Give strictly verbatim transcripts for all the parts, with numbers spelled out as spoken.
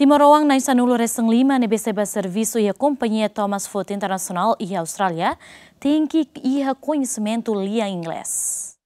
Timoroan na'in sanulu-resin-lima ne'ebé sei bá servisu iha kompañia Thomas Foot International iha Austrália tenke iha koñesimentu lian Inglés.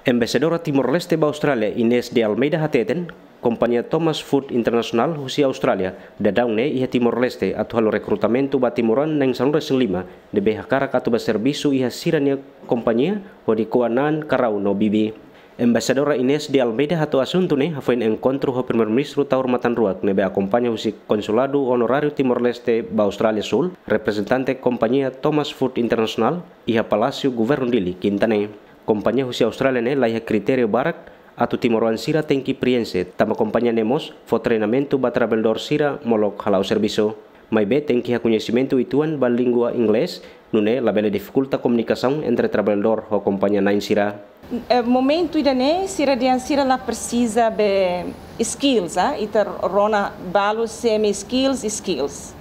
Embaixadora Timor-Leste ba Austrália, Inês de Almeida hateten, kompañia Thomas Foot International husi Austrália daudaun ne'e iha Timor-Leste atu halo rekrutamentu ba timoroan na'in sanulu-resin-lima ne'ebé hakarak atu bá servisu iha sira-nia kompañia hodi ko'a na'an karau no bibi. Embaixadora Inês de Almeida hato'o asuntu ne'e hafoin enkontru ho Primeiru-Ministru Taur Matan Ruak ne'ebé akompaña husi Konsuladu Onoráriu Timor-Leste ba Austrália Súl, reprezentante kompañia Thomas Foot International, iha Palásiu Governu Dili, Kinta ne'e. Kompañia husi Austrália ne'e laiha kritériu barak atu timoroan sira tenke prienxe, tanba kompañia ne'e mós fó treinamentu ba traballadór sira molok hala'o servisu. Maibé tenke iha koñesimentu uitoan ba língua Inglés, nune'e labele difikulta komunikasaun entre traballadór ho kompañia na'in sira. Eh, momentu ida-ne'e, sira dehan sira la presiza be skills, ah, ita rona balu semi skills, skills.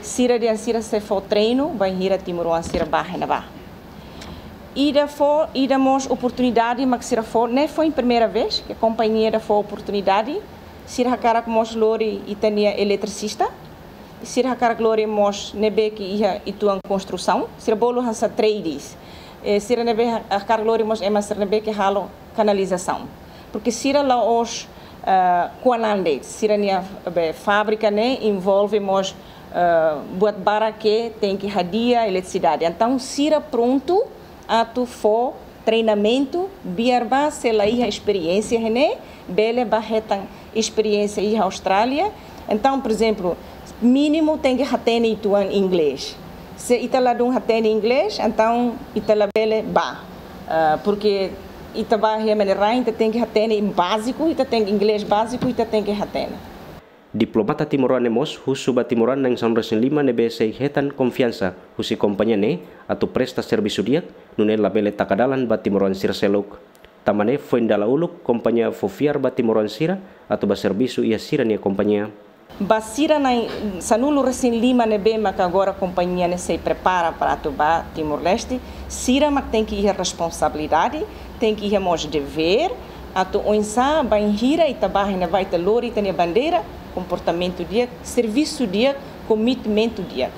Sira dehan sira sei fó treinu, bainhira timoroan sira bá iha ne'ebá. Ida fó, ida mós oportunidade mak sira fó, ne'e foin primeira vez ke kompañia ida fó oportunidade, sira hakarak mós lori ita-nia eletrisista, sira hakarak lori mós ne'ebé ke iha uitoan konstrusaun, sira bolu hanesan trades. Eh, sira ne'ebé ha-, hakarak lori mós ema sira ne'ebé ke halo kanalizasaun. Porke sira la'ós, eh, ko'a na'an de'it, sira-nia, be, fábrika ne'e envolve mós, eh, buat barak ke tenke hadi'a eletrisidade. Entaun, sira prontu atu fó treinamentu, biar ba se la iha esperiénsia iha ne'e, bele bá hetan esperiénsia iha Austrália. Entaun, por ezemplu, mínimu tenke hatene uitoan Inglés. Se ita ladún hatene Inglés, entaun ita labele bá. Ah, porke ita bá iha Menerain, ita tenke hatene báziku, ita tenke Inglés báziku, ita tenke hatene. Diplomata timoroan ne'e mós husu ba timoroan na'in sanulu-resin-lima ne'ebé sei hetan konfiansa husi kompañia ne'e atu presta servisu di'ak, nune'e labele taka dalan ba timoroan sira seluk. Tanba ne'e foin dala uluk kompañia fó fiar ba timoroan sira atu bá servisu iha sira-nia kompañia. Ba sira na'in sanulu-resin-lima ne'ebé maka agora kompañia ne'e sei prepara para atu bá Timor-Leste, sira mak tenke iha responsabilidade, tenke iha mós devér, atu oinsá bainhira ita bá iha ne'ebá ita lori ita-nia bandeira, komportamentu di'ak, servisu di'ak, komitmentu di'ak.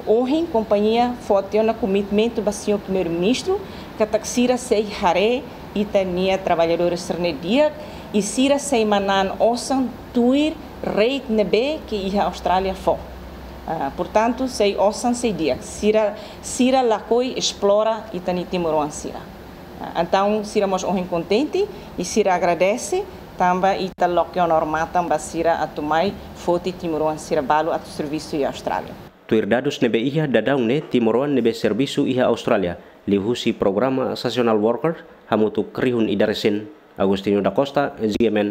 Ohin kompañia foti ona komitmentu ba señór Primeiru-Ministru, katak sira sei haree ita-nia traballadór sira-ne'e di'ak, i sira sei manán osan tuir rate ne'ebé ke iha Austrália fó. Ah, portantu, sei osan sei di'ak, sira, sira lakohi esplora ita-nia timoroan sira. Ah, entaun, sira mós ohin kontente, i sira agradese, tanba ita loke ona matan ba sira atu mai foti timoroan sira balu atu servisu iha Austrália. Tuir dadus ne'ebé iha daudaun ne'e timoroan ne'ebé servisu iha Austrália, liuhusi programa seasonal worker, hamutuk rihun ida resin. Agostinho da Costa, G M N.